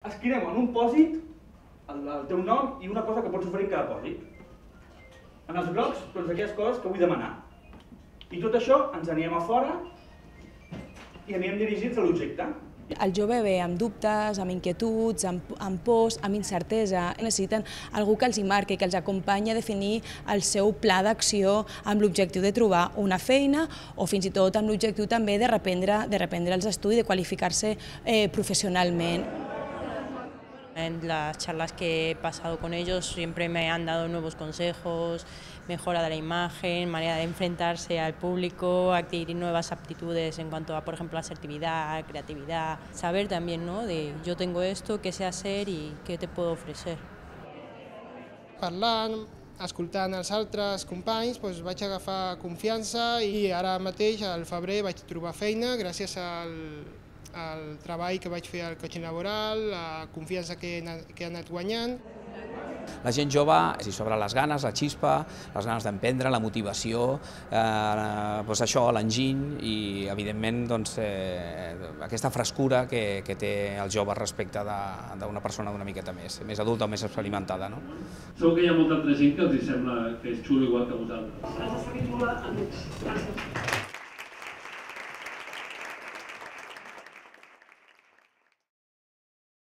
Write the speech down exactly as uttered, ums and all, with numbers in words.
Escriurem en un pòsit el, el teu nom i una cosa que pots oferir en cada pòsit. En els grocs, doncs aquelles coses que vull demanar. I tot això ens anirem a fora i anirem dirigits a l'objecte. El jove ve amb dubtes, amb inquietuds, amb, amb pors, amb incertesa. Necessiten algú que els hi marqui, que els acompanyi a definir el seu pla d'acció amb l'objectiu de trobar una feina o fins i tot amb l'objectiu també de reprendre, de reprendre els estudis, de qualificar-se eh, professionalment. En las charlas que he pasado con ellos siempre me han dado nuevos consejos, mejora de la imagen, manera de enfrentarse al público, adquirir nuevas aptitudes en cuanto a, por ejemplo, asertividad, creatividad. Saber también, ¿no?, de yo tengo esto, qué sé hacer y qué te puedo ofrecer. Parlant, escoltant els altres companys, doncs vaig agafar confiança i ara mateix, al febrer, vaig trobar feina gràcies al el treball que vaig fer al coaching laboral, la confiança que he anat, que he anat guanyant. La gent jove s'hi sobra les ganes, la xispa, les ganes d'emprendre, la motivació, eh, doncs això, l'enginy i, evidentment, doncs, eh, aquesta frescura que, que té el jove respecte d'una persona una miqueta més, més adulta o més experimentada. No? Segur que hi ha molta altra gent que els sembla que és xulo igual que vosaltres. Has de saber jugar amb ells.